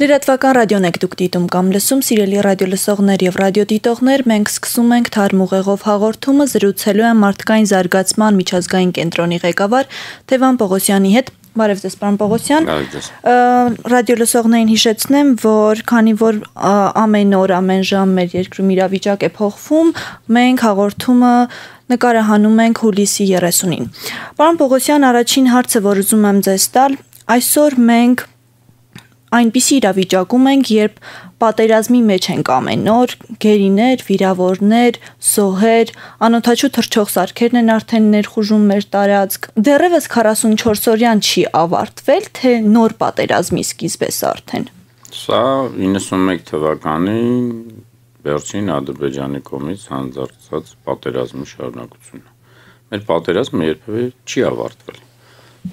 Լրատվական ռադիոն եք դուք դիտում կամ լսում, սիրելի ռադիոլսողներ եւ ռադիոդիտողներ, մենք սկսում ենք Թարմ ուղեղով հաղորդումը, զրուցելու եմ մարդկային զարգացման միջազգային կենտրոնի ղեկավար Թևան Պողոսյանի հետ։ Բարև ձեզ, պարոն Պողոսյան։ Ռադիոլսողներին հիշեցնեմ, որ քանի որ ամեն օր, ամեն ժամ մեր երկրում իրավիճակ է փոխվում, մենք հաղորդումը նկարահանում ենք հուլիսի 30-ին։ Պարոն Պողոսյան, առաջին հարցը, որ ուզում եմ ձեզ տալ, այսօր մենք այնպիսի իրավիճակում ենք, երբ պատերազմի մեջ ենք ամեն օր, գերիներ, վիրավորներ, զոհեր, անօթաչու թռչող սարքերն են արդեն ներխուժում մեր տարածք։ Դեռևս 44-օրյան չի ավարտվել, թե նոր պատերազմի սկիզբ է սա արդեն։ Սա 91 թվականի վերջին Ադրբեջանի կողմից հանձնարարված պատերազմի շարունակությունն է։ Մեր պատերազմը երբևէ չի ավարտվել։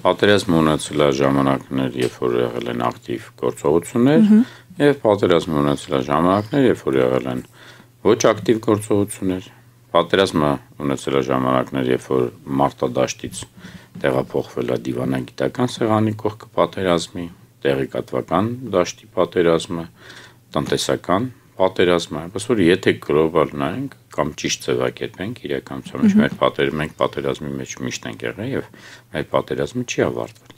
Պատերազմը ունեցել է ժամանակներ, երբ որ եղել են ակտիվ գործողություններ, եւ պատերազմը ունեցել է ժամանակներ, երբ որ եղել են ոչ ակտիվ գործողություններ։ Պատերազմը ունեցել է ժամանակներ, երբ որ մարտադաշտից տեղափոխվել է դիվանագիտական սեղանի կողքը պատերազմի, տեղեկատվական դաշտի պատերազմը, տնտեսական պատերազմը, այնպես որ եթե գլոբալ նայենք կամ ճիշտ ձևակերպենք իրականության մեջ մենք պատերազմի մեջ միշտ ենք եղել եւ մեր պատերազմը չի ավարտվել։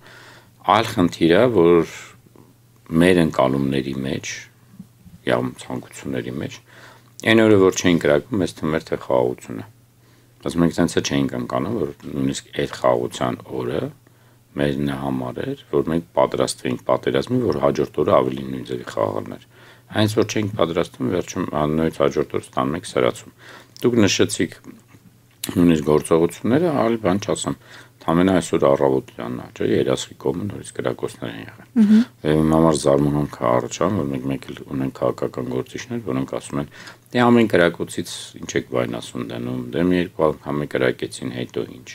Այլ խնդիրը, որ մեր ընկալումների մեջ, կամ ցանկությունների մեջ, այն օրը որ չէին գրակում, մեզ թվում էր թե խաղաղություն է։ Բայց մենք ցենց չէինք ընկալում, որ նույնիսկ այդ խաղաղության օրը մեր համար էր, որ մենք պատրաստվենք պատերազմի, որ հաջորդ օրը ավելի նույն ձևի խաղաղներ։ Հենց որ չենք պատրաստվում, վերջում նույնիսկ հաջորդ օր ստանում ենք սրացում։ Դուք նշեցիք նույնիսկ գործողությունները, այլ բան չասեմ, ամենա այսօր առավոտյան չէ, երասխի կողմը նորից գրակոչներ են եղել։ Եվ իմ համար զարմանք է առաջանում, որ մենք մեկ էլ ունենք քաղաքական գործիչներ, որոնք ասում են, դե ամեն գրակոչից ինչ եք վայնասուն դնում, դե մի երկու անգամ գրակեցին, հետո ինչ։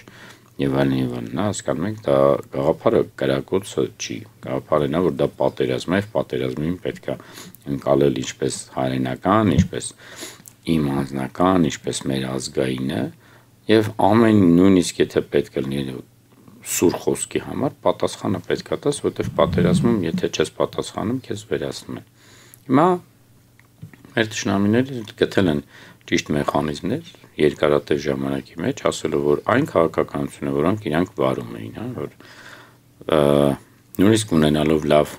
Եվ այլն, նա հասկանում եք, դա գաղափարը գրակոչը չի, գաղափարն է, որ դա պատերազմ է, պատերազմին պետք է ընկալել ինչպես հայրենական, ինչպես իմ անձնական, ինչպես մեր ազգայինը, եւ ամեն նույնիսկ եթե պետք է լինի սուր խոսքի համար, պատասխանը պետք է տաս, որտեղ պատերազմում, եթե չես պատասխանում, քեզ վերացնում են։ Հիմա մեր ճշնամիները գտել են ճիշտ մեխանիզմներ երկարատև ժամանակի մեջ, ասելով, որ այն քաղաքականությունը, որոնք իրանք վարում էին, որ նույնիսկ ունենալով լավ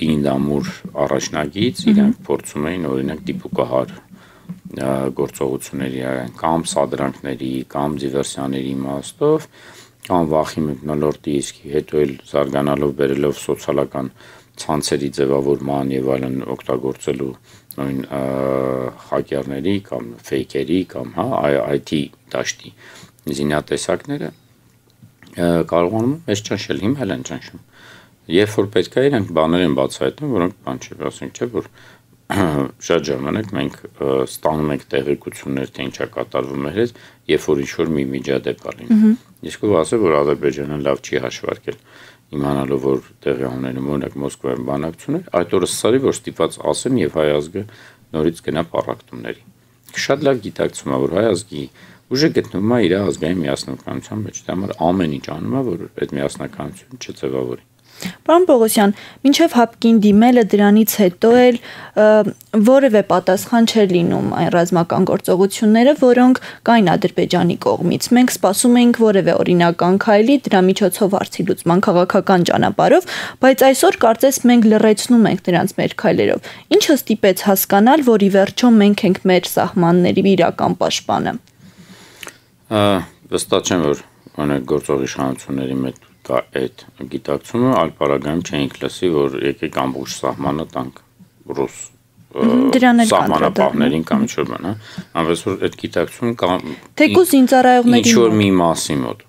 պինդամուր առաջնագիծ, իրանք փորձում էին օրինակ դիպուկահար գործողությունների կամ սադրանքների, կամ դիվերսիաների իմաստով, կամ վախի մթնոլորտի իսկի, հետո էլ զարգանալով բերելով սոցիալական ցանցերի ձևավորման եւ այլն օգտագործելու նույն հակերների կամ ֆեյքերի կամ IT դաշտի զինատեսակները կարողանում մեծ ճնշել, հիմա են ճնշում։ Երբ որ պետք է իրանք բաներ են բացահայտում, որոնք բան չի, ասենք չէ, որ շատ ժամանակ մենք ստանում ենք տեղեկություններ, թե ինչա կատարվում մեր հետ, երբ որ ինչ-որ մի միջադեպ կա լինում։ Իսկ ով ասել, որ Ադրբեջանը լավ չի հաշվարկել, իմանալով, որ տեղի ունենում օրինակ Մոսկվայում բանակցություններ, այդ օրը սարի, որ ստիպված ասեն եւ հայ ազգը նորից գնա պառակտումների։ Շատ լավ գիտակցում է, որ հայ ազգի ուժը գտնվում է իր ազգային միասնականության մեջ, դա համար ամեն ինչ անում է, որ այդ միասնականությունը չձևավորի։ Պարոն Պողոսյան, մինչև հապկին դիմելը դրանից հետո էլ որևէ պատասխան չէր լինում այն ռազմական գործողությունները, որոնք կային Ադրբեջանի կողմից։ Մենք սպասում էինք որևէ օրինական քայլի, դրա միջոցով հարցի լուծման քաղաքական ճանապարհով, բայց այսօր կարծես մենք լռեցնում ենք դրանց մեր քայլերով։ Ինչը ստիպեց հասկանալ, որ ի վերջո մենք ենք մեր սահմանների իրական պաշտպանը։ Վստահ չեմ, որ օրինակ գործող իշխանությունների մեջ կա այդ գիտակցումը, այլ պարագայում չէինք լսի, որ եկեք ամբողջ սահմանը տանք ռուս սահմանապահներին կամ ինչ-որ բան, այնպես որ այդ գիտակցում կա թեկուզ զինծառայողների ինչ-որ մի մասի մոտ,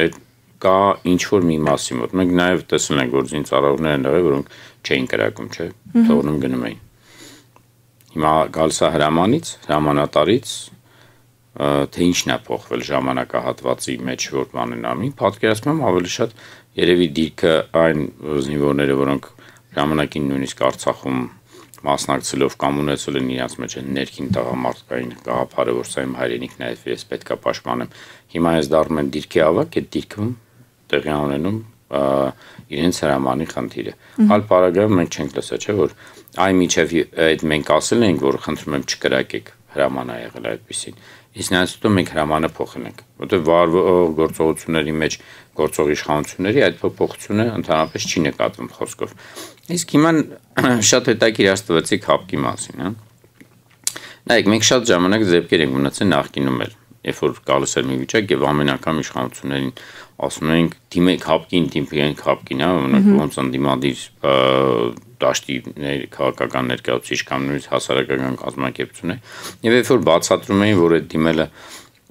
այդ կա ինչ-որ մի մասի մոտ, մենք նաև տեսել ենք, որ զինծառայողներ են եղել, որոնք չէին կրակում, չէ, թողնում գնում էին։ Հիմա գալիս է հրամանից, հրամանատարից թե ինչն է փոխվել ժամանակահատվածի մեջ որ բանն անի, պատկերացնում ավելի շատ երևի դիրքը այն զինվորները, որոնք ժամանակին նույնիսկ Արցախում մասնակցելով կամ ունեցել են իրենց մեջ ներքին տղամարդկային գաղափարը, որ սա իմ հայրենիքն է, ես պետք է պաշտպանեմ։ Հիմա ես դառնում եմ դիրքի ավակ, այդ դիրքում տեղի ունենում իրենց հրամանի խնդիրը։ Այլ պարագայում մենք չենք լսել, չէ՞ որ այ միջև այդ մենք ասել ենք, որ խնդրում եմ չկրակեք հրաման ա եղել այդպեսին։ Իսկ նրանց հետո մենք հրամանը փոխել ենք, որտեղ վարվող գործողությունների մեջ գործող իշխանությունների այդ փոփոխությունը ընդհանրապես չի նկատվում խոսքով։ Իսկ հիմա շատ հետաքրքիր աստվածիկ հապկի մասին, հա։ Նայեք, մենք շատ ժամանակ ձեռքեր ենք մնացել նախկինում էլ, երբ որ գալիս էր մի վիճակ եւ ամեն անգամ իշխանություններին ասում ենք դիմեք հապկին, դիմենք հապկին, հա, ոնց ընդդիմադիր դաշտի քաղաքական ներկայացուցիչ կամ նույնիսկ հասարակական կազմակերպություն է։ Եվ երբ որ բացատրում էին, որ այդ դիմելը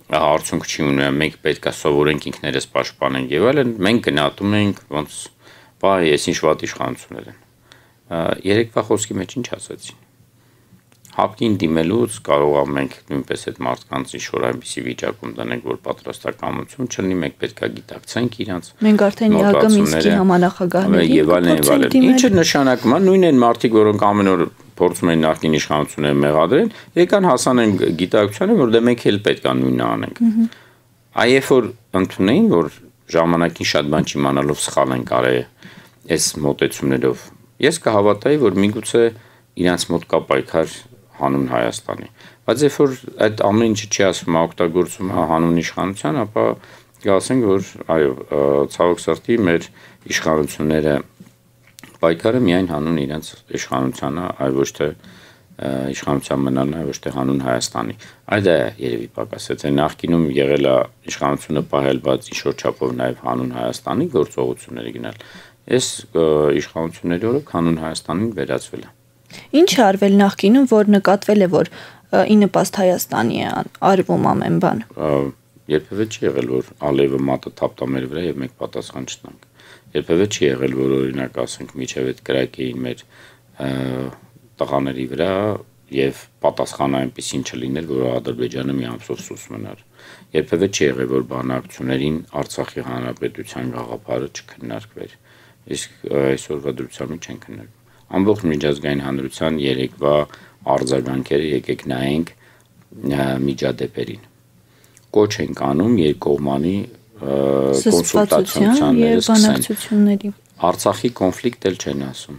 արդյունք չի ունենա, մենք պետք է սովորենք ինքներս պաշտպանենք եւ այլն, մենք գնահատում ենք ոնց բայ ես ինչ վատ իշխանություններ են։ Երեկվա խոսքի մեջ ինչ ասացին։ Հապկին դիմելուց կարող է մենք նույնպես այդ մարդկանց ինչ-որ այնպիսի վիճակում դնենք, որ պատրաստակամություն չլինի, մենք պետք է գիտակցենք իրանց։ Մենք արդեն ԵԱՀԿ Մինսկի համանախագահների եւ այլն։ Ինչը նշանակում է նույն են մարդիկ, որոնք ամեն օր փորձում են նախկին իշխանությունները մեղադրել, եկան հասան են գիտակցությանը, որ դե մենք էլ պետք է նույնը անենք։ Այ երբ որ ընդունեին, որ ժամանակին շատ բան չիմանալով սխալ են կարել այս մոտեցումներով, ես կհավատայի, որ միգուցե իրանց մոտ կա պայքար հանուն Հայաստանի։ Բայց երբ որ այդ ամեն ինչը չի ասվում, օգտագործում հանուն իշխանության, ապա կասենք, որ այո, ցավոք սրտի մեր իշխանությունները պայքարը միայն հանուն իրենց իշխանության է, այլ ոչ թե իշխանության մնալն է, ոչ թե հանուն Հայաստանի։ Այդ է երևի պակասեց։ Նախկինում եղել է իշխանությունը պահել, բայց ինչ-որ չափով նաև հանուն Հայաստանի գործողությունների գնալ։ Այս իշխանությունների օրոք հանուն Հայաստանին վերածվել է։ Ինչ է արվել նախկինում, որ նկատվել է, որ ի նպաստ Հայաստանի է արվում ամեն բան։ Երբևէ չի եղել, որ ալևը մատը թափտա մեր վրա եւ մենք պատասխան չտանք։ Երբևէ չի եղել, որ օրինակ ասենք միջև այդ կրակեին մեր տղաների վրա եւ պատասխանը այնպեսին չլիներ, որ Ադրբեջանը մի ամսով սուս մնար։ Երբևէ չի եղել, որ բանակցություններին Արցախի հանրապետության գաղափարը չքննարկվեր։ Իսկ այսօրվա դրությամբ չեն քննարկվում։ Ամբողջ միջազգային հանրության երեկվա արձագանքերը եկեք նայենք միջադեպերին։ Կոչ ենք անում երկկողմանի կոնսուլտացիաների եւ բանակցությունների։ Արցախի կոնֆլիկտ էլ չեն ասում։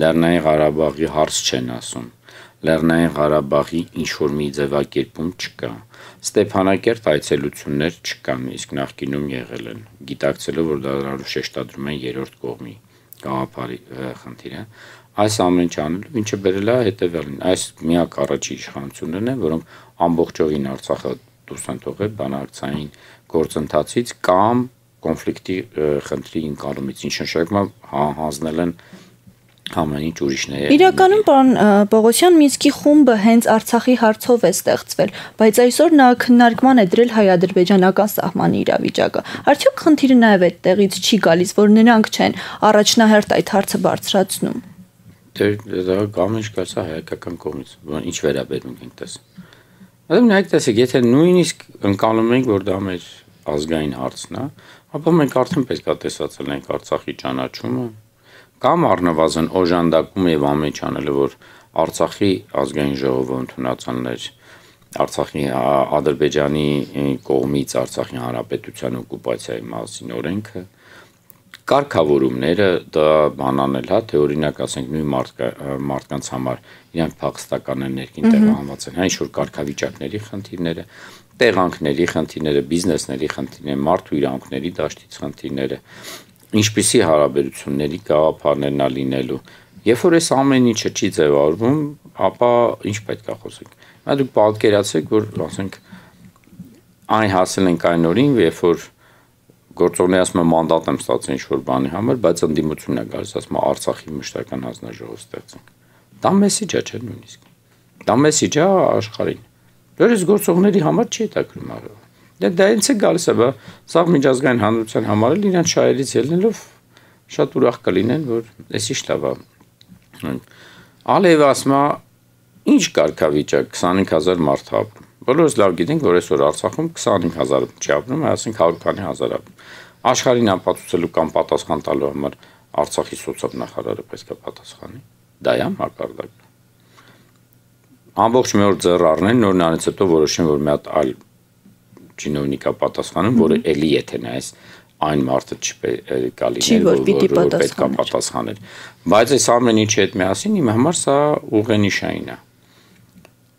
Լեռնային Ղարաբաղի հարց չեն ասում։ Լեռնային Ղարաբաղի ինչ որ մի ձևակերպում չկա։ Ստեփանակերտ այցելություններ չկան, իսկ նախկինում եղել են, գիտակցելով, որ դա շեշտադրում են երրորդ կողմի գաղափարի խնդիրը։ Այս ամեն ինչ անելու ինչը բերել է հետևյալին։ Այս միակ առաջի իշխանություններն են, որոնք ամբողջովին Արցախը դուրս են թողել բանակցային գործընթացից կամ կոնֆլիկտի խնդրի ընկալումից, ինչ նշանակում է հանձնել են ամեն ինչ ուրիշների։ Իրականում պարոն Պողոսյան, Մինսկի խումբը հենց Արցախի հարցով է ստեղծվել, բայց այսօր նա քննարկման է դրել հայ-ադրբեջանական սահմանի իրավիճակը։ Արդյոք խնդիրը նաև այդտեղից չի գալիս, որ նրանք չեն առաջնահերթ այդ հարցը բարձրացնում։ Դա ամեն ինչ գալիս է հայկական կողմից, ինչ վերաբերում ենք տես։ Այդմ նայեք տեսեք, եթե նույնիսկ ընկալում ենք, որ դա մեր ազգային հարցն է, ապա մենք արդեն պետք է տեսածել ենք Արցախի ճանաչումը կամ առնվազն օժանդակում եւ ամեն ինչ անելը, որ Արցախի ազգային ժողովը ընդունացաններ Արցախի Ադրբեջանի կողմից Արցախի հանրապետության օկուպացիայի մասին օրենքը, կարգավորումները դա բանանել հա, թե օրինակ ասենք նույն մարդկանց համար իրանք փախստական են ներքին տեղահանված են, հա ինչ որ կարգավիճակների խնդիրները, տեղանքների խնդիրները, բիզնեսների խնդիրները, մարդու իրավունքների դաշտից խնդիրները, ինչպիսի հարաբերությունների գաղափարներն է լինելու։ Երբ որ այս ամեն ինչը չի ձևավորվում, ապա ինչ պետք է խոսենք։ Դա դուք պատկերացրեք, որ ասենք այն հասել ենք այն օրին, երբ որ գործողները ասում են մանդատ եմ ստացել ինչ-որ բանի համար, բայց ընդդիմությունն է գալիս, ասում է Արցախի մշտական հանձնաժողով ստեղծենք։ Դա մեսիջ է, չէ՞ նույնիսկ։ Դա մեսիջ է աշխարհին։ Դեռ այս գործողների համար չի հետաքրքրում արը։ Դա ինձ է գալիս է, սա միջազգային հանրության համար էլ իրենց շահերից ելնելով շատ ուրախ կլինեն, որ էսի շտավա։ Ալիևը ասում է, ինչ կարգավիճակ 25000 մարդ ապրում։ Բոլորս լավ գիտենք, որ այսօր Արցախում 25000 չի ապրում, այսինքն 100 քանի հազար ապրում։ Աշխարհին ապացուցելու կամ պատասխան տալու համար Արցախի սոցիալ-նախարարը պետք է պատասխանի։ Դա է մակարդակը։ Ամբողջ մի օր ձեռ առնեն, նոր նրանից հետո որոշեն, որ մի հատ այլ չինովնիկա պատասխանում, որը էլի եթե նայես այն մարդը չպետք է լիներ, որ պետք է պատասխաներ։ Բայց այս ամեն ինչի հետ միասին իմ համար սա ուղենիշային է։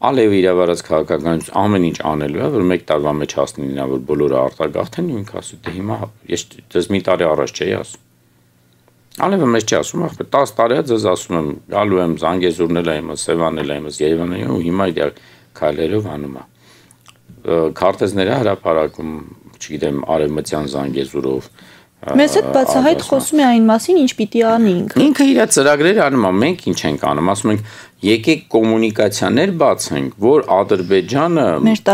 Ալիևը իր վարած քաղաքականություն ամեն ինչ անելու է, որ 1 տարվա մեջ հասնի նա, որ բոլորը արտագաղթեն, ու ինքը ասում դե հիմա ես դες մի տարի առաջ չէի ասում։ Ալիևը մեզ չի ասում, ախպեր 10 տարի է ձեզ ասում եմ, գալու եմ Զանգեզուրնել եմ, Սևանել եմ, Երևանում եմ, ու հիմա իր քայլերով անում է։ Քարտեզները հրապարակում, չգիտեմ, արևմտյան Զանգեզուրով։ Մեզ հետ բացահայտ խոսում է այն մասին, ինչ պիտի անի ինքը։ Ինքը իր ծրագրերը անում է, մենք ինչ ենք անում, ասում ենք եկեք կոմունիկացիաներ բացենք, որ Ադրբեջանը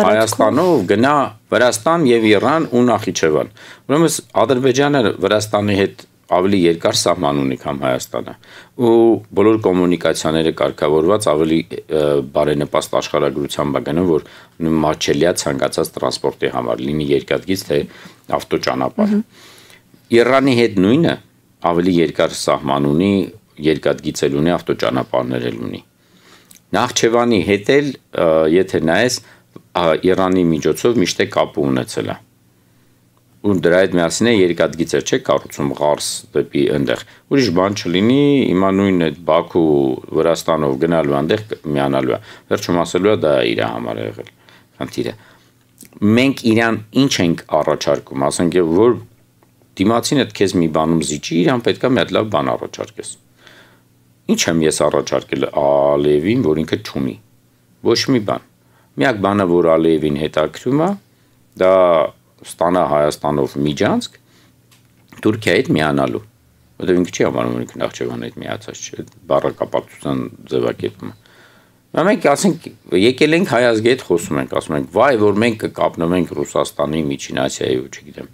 Հայաստանով գնա Վրաստան եւ Իրան ու Նախիջևան։ Ուրեմն Ադրբեջանը Վրաստանի հետ ավելի երկար սահման ունի, քան Հայաստանը, ու բոլոր կոմունիկացիաները կարգավորված ավելի բարենպաստ աշխարհագրությամբ է գնում, որ մատչելիա ցանկացած տրանսպորտի համար, լինի երկաթգիծ թե ավտոճանապարհ։ Իրանի հետ նույնը ավելի երկար սահման ունի, երկաթգիծ ունի, ավտոճանապարհներ ունի։ Նախիջևանի հետ էլ եթե նայես Իրանի միջոցով միշտ կապ ունեցել է։ Ու դրա հետ միասին է երկաթգիծեր չէ կառուցում Ղարս դեպի այնտեղ։ Ուրիշ բան չլինի, հիմա նույնն է Բաքու Վրաստանով գնալու այնտեղ միանալու է։ Վերջում ասելու է դա իր համար է եղել։ Խնդիրը։ Մենք իրան ինչ ենք առաջարկում, ասենք որ դիմացին այդ քեզ մի բանում զիջի, իրան պետքա մի հատ լավ բան առաջարկես։ Ինչ եմ ես առաջարկել Ալիևին, որ ինքը չունի։ Ոչ մի բան։ Միակ բանը, որ Ալիևին հետաքրում է, դա ստանա Հայաստանով միջանցք Թուրքիայի հետ միանալու։ Որտեղ ինքը չի համարում, որ ինքը Նախիջևանի հետ միացած չէ, բառակապակցության ձևակերպումը։ Մենք ասենք եկել ենք Հայ ազգի հետ խոսում ենք, ասում ենք, վայ, որ մենք կկապնվենք Ռուսաստանի, Միջին Ասիայի ու չգիտեմ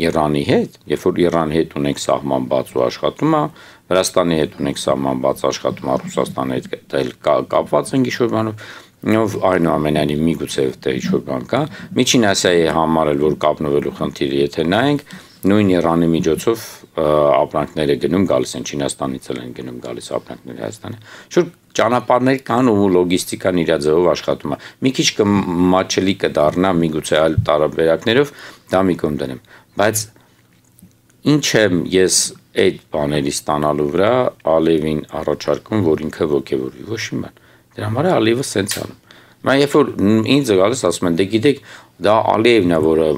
Իրանի հետ, երբ որ Իրանի հետ ունենք սահման բաց ու աշխատում է, Վրաստանի հետ ունենք սահման բաց աշխատում է, Ռուսաստանի հետ էլ կապված ենք ինչ-որ բանով, այնուամենայնիվ միգուցե թե ինչ-որ բան կա, Միջին Ասիայի համար էլ որ կապնվելու խնդիրը եթե նայենք, նույն Իրանի միջոցով ապրանքները գնում գալիս են Չինաստանից են գնում գալիս ապրանքները Հայաստանը։ Շուտ ճանապարհներ կան ու լոգիստիկան իր ձևով աշխատում է։ Մի քիչ կմատչելի կդառնա միգուցե այլ տարբերակներով, դա մի կողմ դնեմ։ Բայց ինչ եմ ես այդ բաների ստանալու վրա Ալիևին առաջարկում, որ ինքը ոգևորվի, ոչ մի բան։ Դրա համար Ալիևը սենց անում։ Mən երբ որ ինձ գալիս ասում են, դե գիտեք, դա Ալիևն է, որը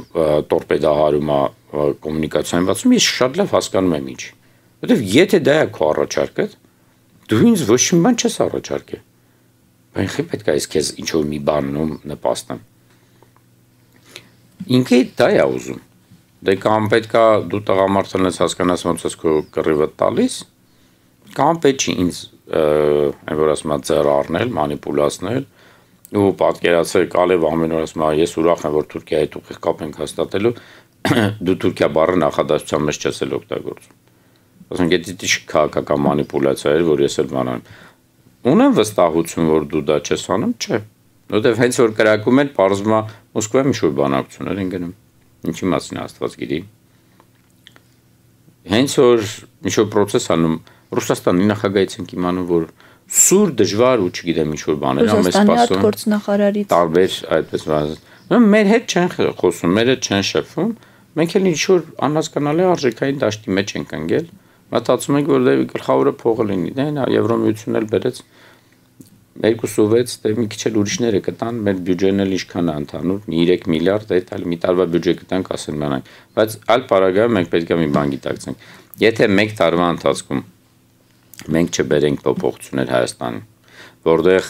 տորպեդահարում է կոմունիկացիան բացում, ես շատ լավ հասկանում եմ ինչ։ Որտեվ եթե դա է քո առաջարկը, դու ինձ ոչ մի բան չես առաջարկել։ Բայց ինքը պետք է ես քեզ ինչ որ մի բանում նպաստեմ։ Ինքը դա է ուզում։ Դե կամ պետք է դու տղամարդն ես հասկանաս ոնց ես քո կռիվը տալիս, կամ պետք չի ինձ այն որ ասում եմ ձեռ առնել, մանիպուլացնել ու պատկերացրեք Ալիև ամեն օր ասում է ես ուրախ եմ որ Թուրքիայի հետ ուղիղ կապ ենք հաստատելու դու Թուրքիա բառը նախադասության մեջ չես էլ օգտագործում ասենք դա քաղաքական մանիպուլյացիա էր որ ես էլ բանան ունեմ վստահություն որ դու դա չես անում չէ որովհետև հենց որ կրակում են պարզվում է Մոսկվայում ինչ-որ բանակցություններ են գնում ինչի մասին Աստված գիտի հենց որ ինչ-որ process անում Ռուսաստանի նախագահից ենք իմանում որ սուր դժվար ու չգիտեմ ինչ որ բաներ ամ էս սպասում գործնախարարից տարբեր այդպես բան մեր հետ չեն խոսում մեր հետ չեն շփվում մենք էլ ինչ որ անհասկանալի արժեքային դաշտի մեջ ենք ընկել մտածում ենք որ դե գլխավորը փողը լինի դե նա Եվրոմիությունն էլ բերեց 2.6 դե մի քիչ էլ ուրիշները կտան մեր բյուջեն էլ ինչքան է ընդհանուր 3 միլիարդ այդ այլ մի տարվա բյուջե կտանք ասեն բանակ բայց այլ պարագայում մենք պետք է մի բան գիտակցենք եթե 1 տարվա ընթացքում մենք չբերենք փոփոխություններ Հայաստանին, որտեղ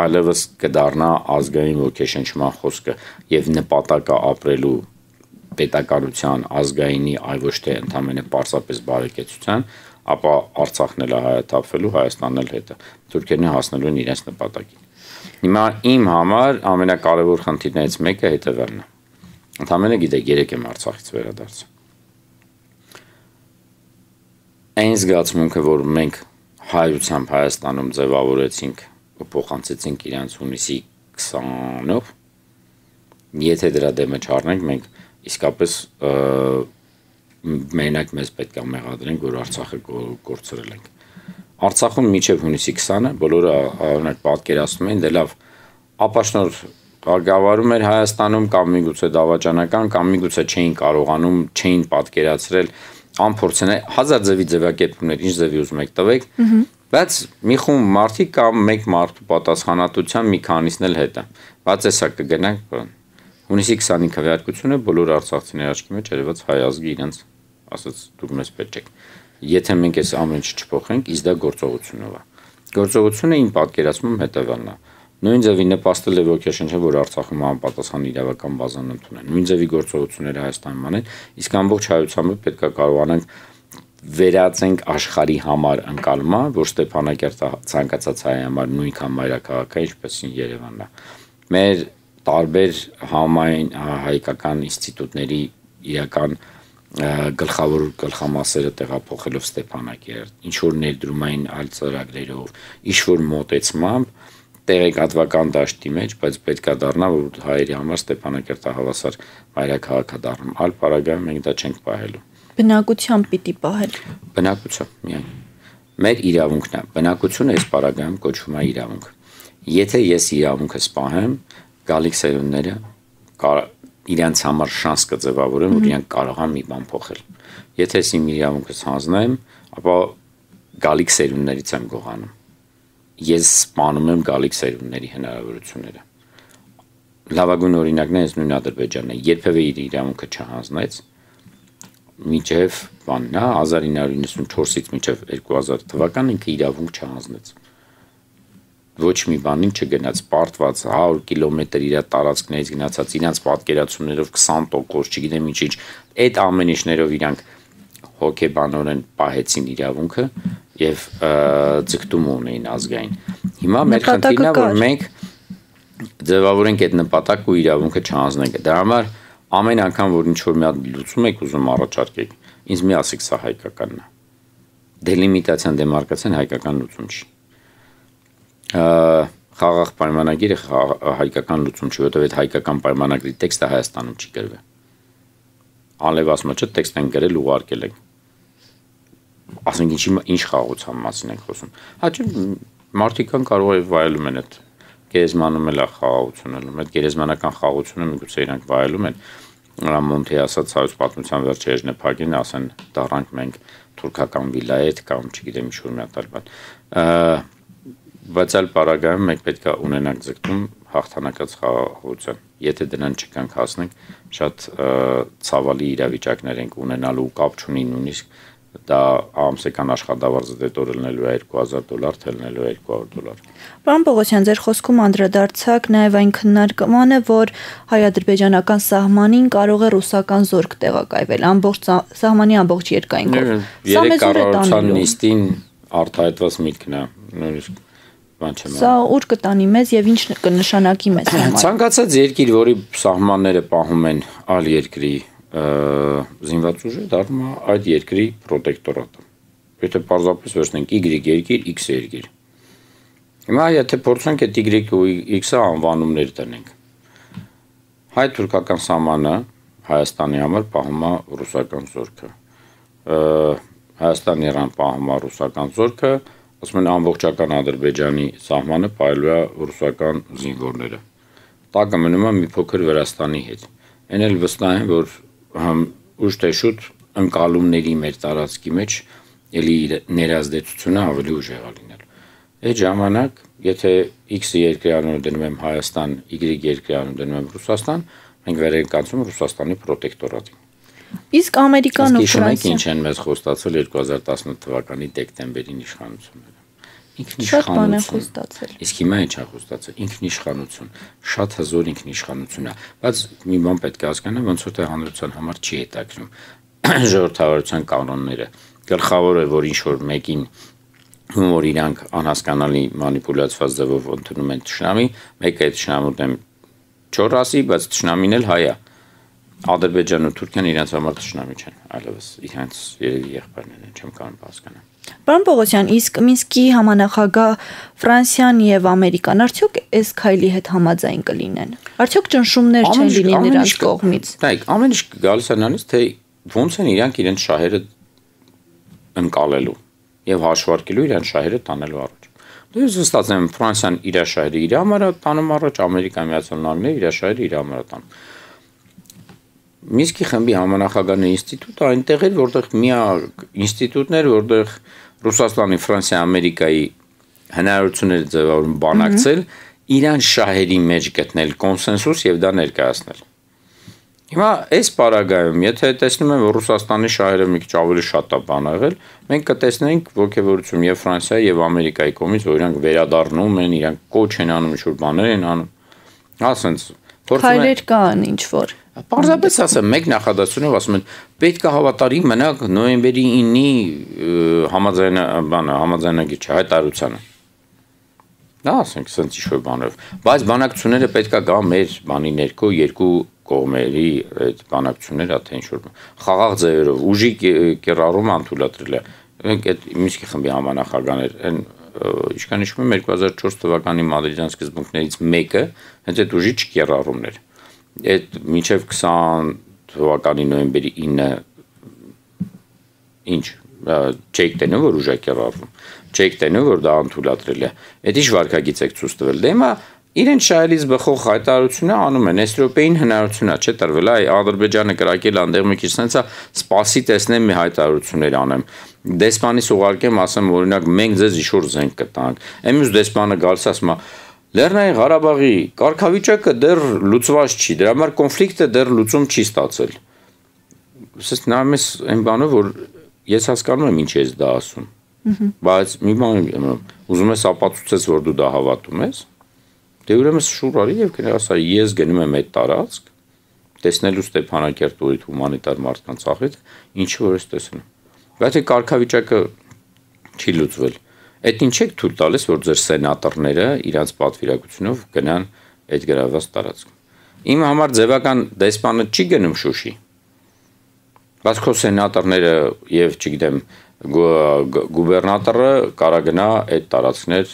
այլևս կդառնա ազգային ոգեշնչման խոսքը եւ նպատակը ապրելու պետականության ազգայինի այլ ոչ թե ընդհանրապես պարզապես բարեկեցության, ապա Արցախն էլ հայաթափվելու, Հայաստանն էլ հետը, Թուրքիան հասնելու են իրենց նպատակին։ Հիմա իմ համար ամենակարևոր խնդիրներից մեկը հետևելն է։ Ընդհանրապես գիտեք, 3 եմ Արցախից վերադարձել։ Այն զգացմունքը, որ մենք հայությամբ Հայաստանում ձևավորեցինք ու փոխանցեցինք իրանց հունիսի 20-ով, եթե դրա դեմը չառնենք, մենք իսկապես մենակ մեզ պետք է մեղադրենք, որ Արցախը կորցրել ենք։ Արցախում մինչև հունիսի 20-ը բոլորը պատկերացնում են, դե լավ, ապաշնոր ղեկավարում էր Հայաստանում կամ միգուցե դավաճանական, կամ միգուցե չէին կարողանում, չէին պատկերացրել անփորձեն հազար ձևի ձևակերպումներ, ինչ ձևի ուզում եք տվեք, բայց մի խումբ մարդիկ կամ մեկ մարդու պատասխանատվության մի քանիսն էլ հետ է։ Բայց էսա կգնանք հունիսի 25-ի քվեարկությունը բոլոր արցախցիների աչքի մեջ երևաց հայ ազգի իրենց ասած դուք մեզ պետք եք։ Եթե մենք այս ամեն ինչ չփոխենք, իսկ դա գործողությունով է։ Գործողությունը իմ պատկերացմում հետևանն է։ Նույն ձևի նպաստել է ոգեշնչել, որ Արցախում անպատասխան իրավական բազան ընդունեն։ Նույն ձևի գործողությունները Հայաստանում անեն, իսկ ամբողջ հայությամը պետք է կարողանանք վերածենք աշխարհի համար ընկալման, որ Ստեփանակերտը ցանկացած հայ համար նույնքան մայրաքաղաք է, ինչպես Երևանն է։ Մեր տարբեր համայն հայկական ինստիտուտների իրական գլխավոր գլխամասերը տեղափոխելով Ստեփանակերտ, ինչ որ ներդրումային այլ ծրագրերով, ինչ որ մոտեցմամբ տեղեկատվական դաշտի մեջ, բայց պետքա դառնա, որ հայերի համար Ստեփանակերտը հավասար մայրաքաղաք է դառնում։ Այլ պարագայում մենք դա չենք պահելու։ Բնակությամբ պիտի պահել։ Բնակությամբ միայն։ Մեր իրավունքն է։ Բնակությունը այս պարագայում կոչվում է իրավունք։ Եթե ես իրավունքս պահեմ, գալիք սերունդները իրանց համար շանս կձևավորեն, որ իրանք կարող են մի բան փոխել։ Եթե ես իմ իրավունքս հանձնեմ, ապա գալիք սերունդներից եմ գողանում։ Ես սպանում եմ գալիք սերունդների հնարավորությունները։ Լավագույն օրինակն է նույն Ադրբեջանն է, երբևէ իր իրավունքը չհանձնեց, մինչև բանն է 1994-ից մինչև 2000 թվական ինքը իրավունք չհանձնեց։ Ոչ մի բանին չգնաց, պարտված 100 կիլոմետր իր տարածքներից գնացած իրանց պատկերացումներով 20%, չգիտեմ ինչ, այդ ամեն ինչներով իրանք հոգեբանորեն պահեցին իրավունքը եւ ձգտում ունեին ազգային։ Հիմա մեր խնդիրն է, որ մենք ձևավորենք այդ նպատակը ու իրավունքը չհանձնենք։ Դրա համար ամեն անգամ որ ինչ որ մի հատ լուծում եք ուզում առաջարկեք, ինձ մի ասեք սա հայկականն է։ Դելիմիտացիան, դեմարկացիան հայկական լուծում չի։ Խաղաղ պայմանագիրը հայկական լուծում չի, որովհետև այդ հայկական պայմանագրի տեքստը Հայաստանում չի գրվել։ Անլևասմը չէ, տեքստ են գրել ու ուղարկել են։ Ասենք ինչ խաղաղության մասին ենք խոսում։ Հաճո մարդիկ կարող է վայելում են այդ գերեզմանում էլ է խաղաղություն ելնում, այդ գերեզմանական խաղաղությունը միգուցե իրանք վայելում են։ Մոնթի ասած հայոց պատմության վերջերն է փակին, ասեն դառանք մենք թուրքական վիլայետ կամ չգիտեմ ինչ որ մի հատ բան։ Բայց այլ պարագայում մենք պետք է ունենանք ձգտում հաղթանակած խաղաղություն։ Եթե դրան չկանք հասնենք, շատ ցավալի իրավիճակներ ենք ունենալու, կապ չունի նույնիսկ դա ամսական աշխատավարձը դետորելնելու է $2000, թելնելու է $200։ Պարոն Պողոսյան, ձեր խոսքում անդրադարձակ նաև այն քննարկմանը, որ հայ-ադրբեջանական սահմանին կարող է ռուսական զորք տեղակայվել ամբողջ սահմանի ամբողջ երկայնքով։ Երեք կառավարության նիստին արտահայտված միտքն է, նույնիսկ բան չեմ։ Սա ուր կտանի մեզ եւ ինչ կնշանակի մեզ համար։ Ցանկացած երկիր, որի սահմանները պահում են այլ երկրի զինված ուժը, դառնում է այդ երկրի պրոտեկտորատը։ Եթե պարզապես վերցնենք Y երկիր, X երկիր։ Հիմա եթե փորձենք այդ Y ու X-ը անվանումներ տնենք։ Հայ-թուրքական սահմանը Հայաստանի համար պահում է ռուսական զորքը։ Հայաստանի իրան պահում է ռուսական զորքը, ասում են ամբողջական Ադրբեջանի սահմանը պահելու է ռուսական զինվորները։ Տակը մնում է մի փոքր Վրաստանի հետ։ Այն էլ վստահ են, որ ուշ թե շուտ ընկալումների մեր տարածքի մեջ էլի ներազդեցությունը ավելի ուժեղ է լինել։ Այդ ժամանակ, եթե X երկրի անունը դնում եմ Հայաստան, Y երկրի անունը դնում եմ Ռուսաստան, մենք վեր ենք անցում Ռուսաստանի պրոտեկտորատին։ Իսկ Ամերիկան ու Ֆրանսիան ինչ են մեզ խոստացել 2018 թվականի դեկտեմբերին իշխանությունները։ Ինքնիշխանություն։ Իսկ հիմա ինչ է խոստացել։ Ինքնիշխանություն, շատ հզոր ինքնիշխանություն է, բայց մի բան պետք է հասկանալ, ոնց որ թե հանրության համար չի հետաքրում ժողովրդավարության կանոնները։ Գլխավոր է, որ ինչ որ մեկին որ իրանք անհասկանալի մանիպուլյացված ձևով ընդունում են թշնամի, մեկը այդ թշնամուն դեմ չոր ասի, բայց թշնամին էլ հայ է։ Ադրբեջանն ու Թուրքիան իրենց համար թշնամի չեն, այլևս իրենց երևի եղբայրներն են, չեմ կարող հասկանալ։ Պարոն Պողոսյան, իսկ Մինսկի համանախագահ Ֆրանսիան եւ Ամերիկան արդյոք այս քայլի հետ համաձայն կլինեն։ Արդյոք ճնշումներ չեն լինի նրանց կողմից։ Դայք, ամեն ինչ գալիս է նրանից, թե ոնց են իրանք իրենց շահերը ընկալելու եւ հաշվարկելու իրենց շահերը տանելու առաջ։ Դες ստացեմ Ֆրանսիան իր շահերը իր համար տանում առաջ, Ամերիկայի Միացյալ Նահանգները իր շահերը իր համար տանում։ Մինսկի խմբի համանախագահների ինստիտուտը այնտեղ էր, որտեղ միակ ինստիտուտն էր, որտեղ Ռուսաստանի, Ֆրանսիայի, Ամերիկայի հնարավորությունները ձևավորում բանակցել, իրան շահերի մեջ գտնել կոնսենսուս եւ դա ներկայացնել։ Հիմա այս պարագայում, եթե տեսնում եմ, որ Ռուսաստանի շահերը մի քիչ ավելի շատ է բան եղել, մենք կտեսնենք ողջևորություն եւ Ֆրանսիայի եւ Ամերիկայի կողմից, որ իրանք վերադառնում են, իրանք կոչ են անում, ինչ-որ բաներ են անում։ Ասենց Քայլեր կան ինչ որ։ Պարզապես ասեմ, մեկ նախադասությունով ասում են, պետք է հավատարի մնաք նոյեմբերի 9-ի համաձայնագիր հայտարարությանը։ Դա ասենք, սենց ինչ-որ բաներով։ Բայց բանակցությունները պետք է գա մեր բանի ներքո երկու կողմերի այդ բանակցությունները, թե ինչ-որ խաղաղ ձևերով, ուժի կիրառումը անթույլատրել է։ Մենք այդ Մինսկի խմբի համանախագահներ են ինչքան հիշում եմ 2004 թվականի մադրիդյան սկզբունքներից մեկը հենց այդ ուժի չկիրառումն էր։ Այդ մինչև 20 թվականի նոյեմբերի 9-ը ինչ չեք տենում որ ուժը կիրառվում, չեք տենում որ դա անթույլատրել է։ Այդ ինչ վարկագիծ եք ցույց տվել։ Դե հիմա իրեն շահերից բխող հայտարարությունը անում են, այս րոպեին հնարավորություն է, չէ՞ տրվել, այ Ադրբեջանը կրակել անդեղ մի քիչ sense-ա սպասի տեսնեմ մի հայտարարություններ անեմ։ Դեսպանից ուղարկեմ, ասեմ օրինակ մենք ձեզ ինչ-որ զենք կտանք։ Ամյուս դեսպանը գալիս ասում է Լեռնային Ղարաբաղի կարգավիճակը դեռ լուծված չի, դրա համար կոնֆլիկտը դեռ լուծում չի ստացել։ Սենց նայում ես այն բանը, որ ես հասկանում եմ ինչ ես դա ասում։ Բայց մի բան ուզում ես ապացուցես, որ դու դա հավատում ես։ Դե ուրեմն շուռ արի եւ կնա ասա ես գնում եմ այդ տարածք, տեսնելու Ստեփանակերտի հումանիտար մարդկանց աղետ, ինչը որ ես տեսնում։ Բայց այդ կարգավիճակը չի լուծվել։ Այդ ինչ եք թույլ տալիս, որ ձեր սենատորները իրանց պատվիրակությունով գնան այդ գրաված տարածք։ Իմ համար ձևական դեսպանը չի գնում Շուշի։ Բայց քո սենատորները եւ չգիտեմ գուբերնատորը կարա գնա այդ տարածքներ,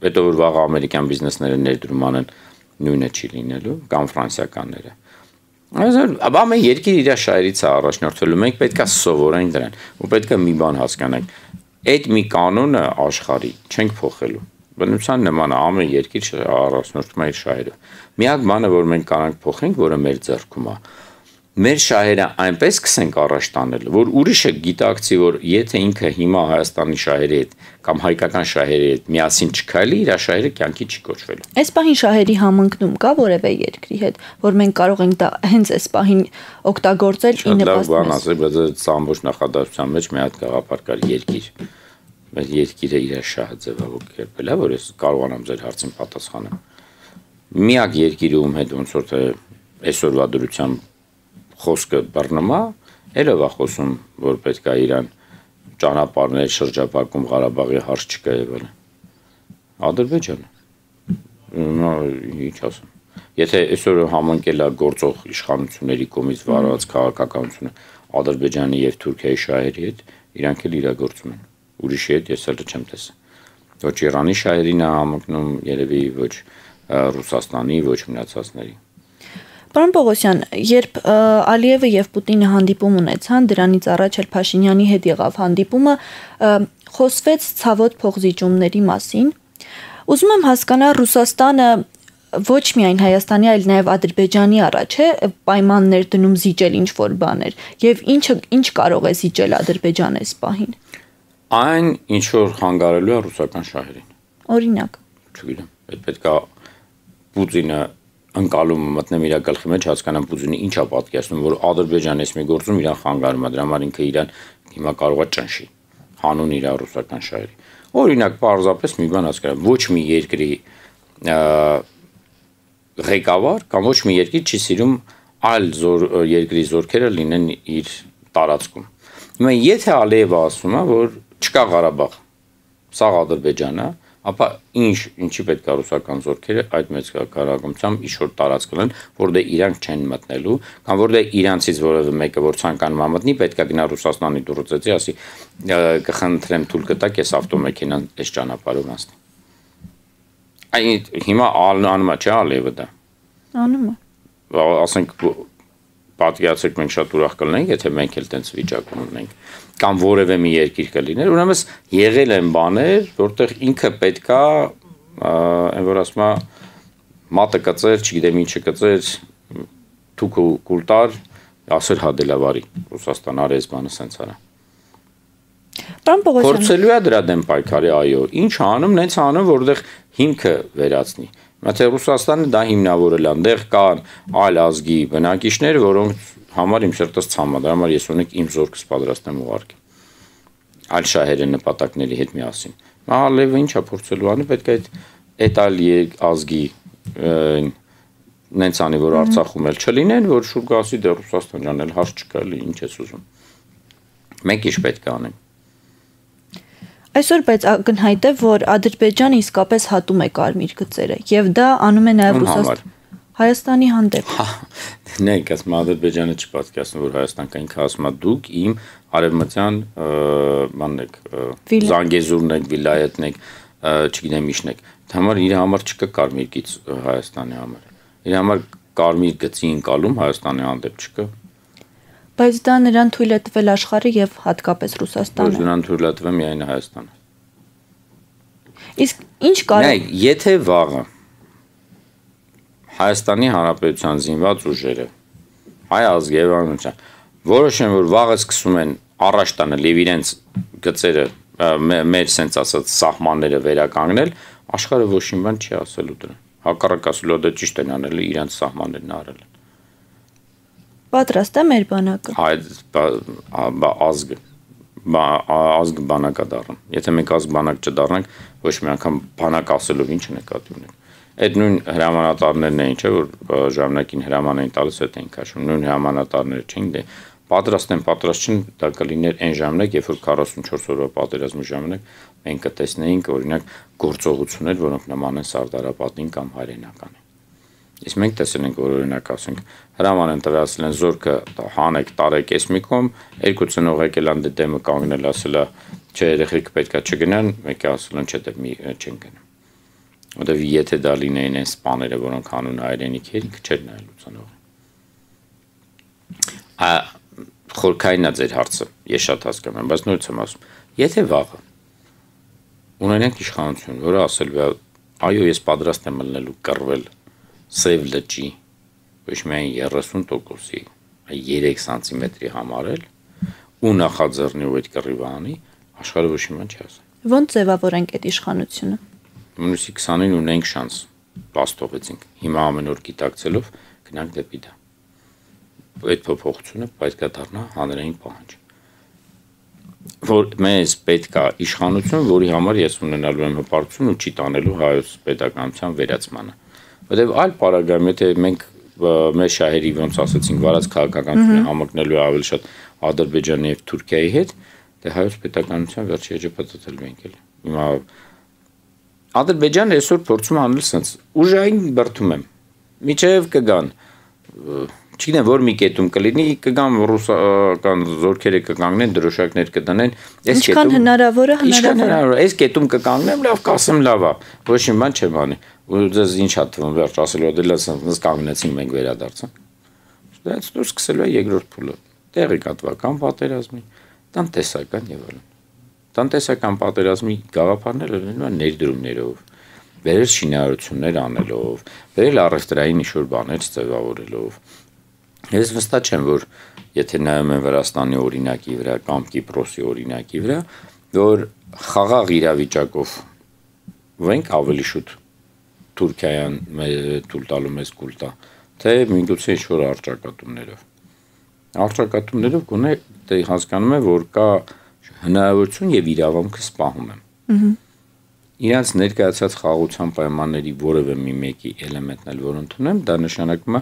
հետո որ վաղ ամերիկյան բիզնեսները ներդրում անեն, նույնը չի լինելու կամ ֆրանսիականները։ Աբա մենք երկիր իր շահերից է առաջնորդվելու, մենք պետք է սովորենք դրան, ու պետք է մի բան հասկանանք։ Այդ մի կանոնը աշխարհի չենք փոխելու։ Բնության նման է, ամեն երկիր առաջնորդվում է իր շահերով։ Միակ բանը, որ մենք կարանք փոխենք, որը մեր ձեռքում է, մեր շահերը այնպես սկսենք առաջ տանել, որ ուրիշը գիտակցի, որ եթե ինքը հիմա Հայաստանի շահերի հետ կամ հայկական շահերի հետ միասին չքայլի, իր շահերը կյանքի չի կոչվելու։ Այս պահին շահերի համընկնում կա որևէ երկրի հետ, որ մենք կարող ենք դա հենց այս պահին օգտագործել ի նպաստ։ Բան ասել, բայց ամբողջ նախադասության մեջ մի հատ գաղափար կար երկիր։ Բայց երկիրը իր շահը ձևավորել է, որ ես կարողանամ ձեր հարցին պատասխանել։ Միակ երկիրը ում հետ ոնց որ թե այսօրվա դրությամբ խոսքը բռնում է, ելով է խոսում, որ պետք է իրան ճանապարհներ շրջապակում Ղարաբաղի հարց չկա եղել։ Ադրբեջանը։ Ինչ ասեմ։ Եթե այսօր համընկել է գործող իշխանությունների կողմից վարված քաղաքականությունը Ադրբեջանի եւ Թուրքիայի շահերի հետ, իրանք էլ իրագործում են։ Ուրիշի հետ ես էլ չեմ տեսել։ Ոչ Իրանի շահերին է համընկնում, երևի ոչ Ռուսաստանի, ոչ մնացածների։ Պարոն Պողոսյան, երբ Ալիևը եւ Պուտինը հանդիպում ունեցան, դրանից առաջ էլ Փաշինյանի հետ եղավ հանդիպումը, խոսվեց ցավոտ փոխզիջումների մասին։ Ուզում եմ հասկանալ Ռուսաստանը ոչ միայն Հայաստանի, այլ նաեւ Ադրբեջանի առաջ է պայմաններ դնում զիջել ինչ որ բաներ, եւ ինչ կարող է զիջել Ադրբեջանը այս պահին։ Այն ինչ որ խանգարելու է ռուսական շահերին։ Օրինակ։ Չգիտեմ, այդ պետք է Պուտինը ընկալումը մտնեմ իր գլխի մեջ հասկանամ Պուտինը ինչ է պատկերացնում, որ Ադրբեջանը այս մի գործում իրան խանգարում է, դրա համար ինքը իրան հիմա կարող է ճնշի հանուն իր ռուսական շահերի։ Օրինակ, պարզապես մի բան հասկանամ, ոչ մի երկրի ղեկավար կամ ոչ մի երկիր չի սիրում այլ երկրի զորքերը լինեն իր տարածքում։ Հիմա եթե Ալիևը ասում է, որ չկա Ղարաբաղ, սա Ադրբեջանն է, ապա ինչի պետք է ռուսական զորքերը այդ մեծ կարողությամբ ինչ-որ տարածք ունեն, որտեղ իրանք չեն մտնելու, կամ որտեղ իրանցից որևէ մեկը որ ցանկանում է մտնի, պետք է գնա Ռուսաստանի դուրսեցի, ասի կխնդրեմ թույլ կտակ, ես ավտոմեքենան այս ճանապարհով անցնի։ Այն հիմա անում է, չէ՞ Ալիևը դա։ Անում է։ Ասենք պատկերացրեք մենք շատ ուրախ կլինենք, եթե մենք էլ տենց վիճակում ունենք, կամ որևէ մի երկիր կլիներ, ուրեմն եղել են բաներ, որտեղ ինքը պետքա, այն որ ասում է, մատը կծեր, չգիտեմ ինչը կծեր, թուքը կուլտար, ասեր հադելավարի, Ռուսաստան արեց բանը սենց արա։ Փորձելու է դրա դեմ պայքարի, այո, ինչ անում, նենց անում, որտեղ հիմքը վերացնի։ Մատե Ռուսաստանը դա հիմնավորել է, այնտեղ կան այլ ազգի բնակիչներ, որոնք համար իմ սրտս ցամա, դրա համար ես ունեք իմ զորքս պատրաստ եմ ուղարկել։ Այլ շահերի նպատակների հետ միասին։ Մահալևը ինչա փորձելու անի, պետք է այդ այլ ազգի նենց անի, որ Արցախում էլ չլինեն, որ շուտ գասի դե Ռուսաստան ջան էլ հարց չկա, ինչ ես ուզում։ Մենք ինչ պետք է անենք։ Այսօր բայց ակնհայտ է, որ Ադրբեջանը իսկապես հատում է կարմիր գծերը, եւ դա անում է նաեւ Հայաստանի հանդեպ։ Նայեք, ասում Ադրբեջանը չպատկասում, որ Հայաստան կային ասում դուք իմ արևմտյան բանն եք, Զանգեզուրն եք, Վիլայեթն եք, չգիտեմ ինչն եք։ Դա համար իր համար չկա կարմիր գիծ Հայաստանի համար։ Իր համար կարմիր գծի ընկալում Հայաստանի հանդեպ չկա։ Բայց դա նրան թույլ է տվել աշխարհը եւ հատկապես Ռուսաստանը։ Ոչ նրան թույլ է տվել միայն Հայաստանը։ Իսկ ինչ կարող։ Նայեք, եթե վաղը Հայաստանի Հանրապետության զինված ուժերը, հայ ազգի եւ անմիջան, որոշեն, որ վաղը սկսում են առաջ տանել եւ իրենց գծերը մեր sense ասած սահմանները վերականգնել, աշխարհը ոչ մի բան չի ասելու դրան։ Հակառակ ասելու դա ճիշտ են անել, իրենց սահմաններն արել են։ Պատրաստ է մեր բանակը։ Ազգ բանակա դառնում։ Եթե մենք ազգ բանակ չդառնանք, ոչ մի անգամ բանակ ասելով ինչ նկատի ունենք։ Այդ նույն հրամանատարներն էին, չէ՞ որ ժամանակին հրաման էին տալիս, այդ էին քաշում, նույն հրամանատարները չէին, դե պատրաստ են, պատրաստ չեն, դա կլիներ այն ժամանակ, երբ որ 44 օրվա պատերազմի ժամանակ մենք կտեսնեինք օրինակ գործողություններ, որոնք նման են Սարդարապատին կամ Հայրենականին։ Իսկ մենք տեսել ենք, որ օրինակ ասենք հրաման են տվել, ասել են զորքը հանեք, տարեք էս մի կողմ, երկու ծնող եկել ան դեմը կանգնել, ասել է, չէ, երեխեք պետքա չգնան, մեկը ասել են, չէ, դե մի չեն գնա։ Որտեվ եթե դա լինեին այն սպաները, որոնք հանուն հայրենիք էր, ինքը չէր նայելու ծնողը։ Խորքայինա ձեր հարցը, ես շատ հասկանում եմ, բայց նույնց եմ ասում, եթե վաղը ունենանք իշխանություն, որը ասելու է, այո, ես պատրաստ եմ ելնելու կռվել Սև լճի ոչ միայն 30%-ի, այլ 3 սանտիմետրի համարել ու նախաձեռնի ու այդ կռիվը անի, աշխարհը ոչ մի բան չի ասել։ Ոնց ձևավորենք այդ իշխանությունը։ Մինուսի 20-ին ունենք շանս, բաստողեցինք։ Հիմա ամեն օր գիտակցելով գնանք դեպի դա։ Այդ փոփոխությունը պետք է դառնա հանրային պահանջ։ Որ մեզ պետք է իշխանություն, որի համար ես ունենալու եմ հպարտություն ու չի տանելու հայոց պետականության վերացմանը։ Որտեւ այլ պարագայում, եթե մենք մեր շահերի ոնց ասացինք, վարած քաղաքականությունը համընկնելու ավելի շատ Ադրբեջանի եւ Թուրքիայի հետ, դե հայոց պետականության վերջի էջը պատտել ենք էլ։ Հիմա Ադրբեջանը այսօր փորձում անել sense ուժային բրդում եմ։ Միջև կգան, չգիտեմ որ մի կետում կլինի, կգան ռուսական զորքերը կկանգնեն, դրոշակներ կդնեն, այս կետում ինչքան հնարավոր է հնարավոր։ Այս կետում կկանգնեմ, լավ կասեմ լավ է, ոչ մի բան չեմ անի։ Ու դες ինչ է թվում, վերջ ասելով դե լսած կանգնեցին մենք վերադարձանք։ Դա դուրս սկսելու է երկրորդ փուլը։ Տեղի կատվական պատերազմի, տնտեսական եւ այլն։ Տնտեսական պատերազմի գաղափարները լինում են ներդրումներով, վերել շինարարություններ անելով, վերել առևտրային ինչ-որ բաներ ձևավորելով։ Ես վստահ չեմ, որ եթե նայում եմ Վրաստանի օրինակի վրա կամ Կիպրոսի օրինակի վրա, որ խաղաղ իրավիճակով վենք ավելի շուտ Թուրքիան թույլ տալու մեզ կուլտա, թե միգուցե ինչ-որ առճակատումներով։ Առճակատումներով գոնե դե հասկանում եմ, որ կա հնարավորություն եւ իրավունքը սպահում եմ։ Իրանց ներկայացած խաղաղության պայմանների որևէ մի մեկի էլեմենտն էլ որ ընդունեմ, դա նշանակում է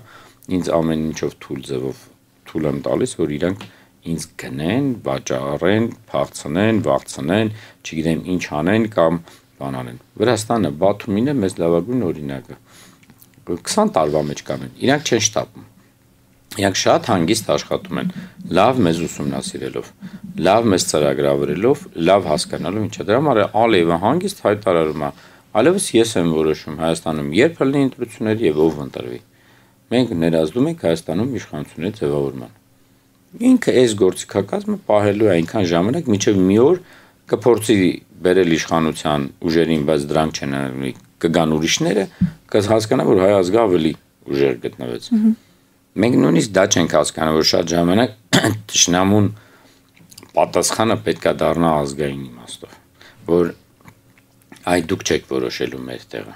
ինձ ամեն ինչով թույլ ձևով թույլ եմ տալիս, որ իրանք ինձ գնեն, վաճառեն, փախցնեն, վախցնեն, չգիտեմ ինչ անեն կամ բան անեն։ Վրաստանը, Բաթումին է մեզ լավագույն օրինակը։ 20 տարվա մեջ կանեն, իրանք չեն շտապում։ Իրանք շատ հանգիստ աշխատում են, լավ մեզ ուսումնասիրելով, լավ մեզ ծրագրավորելով, լավ հասկանալով ինչա։ Դրա համար Ալիևը հանգիստ հայտարարում է, այլևս ես եմ որոշում Հայաստանում երբ լինի ընտրություններ եւ ով ընտրվի։ մենք ներազդում ենք Հայաստանում իշխանությունների ձևավորման։ Ինքը այս գործիքակազմը պահելու է այնքան ժամանակ, մինչև մի օր կփորձի բերել իշխանության ուժերին, բայց դրանք չեն անելու, կգան ուրիշները, կհասկանա, որ հայ ազգը ավելի ուժեր գտնվեց։ Մենք նույնիսկ դա չենք հասկանում, որ շատ ժամանակ թշնամուն պատասխանը պետք է դառնա ազգային իմաստով, որ այ դուք չեք որոշելու մեր տեղը։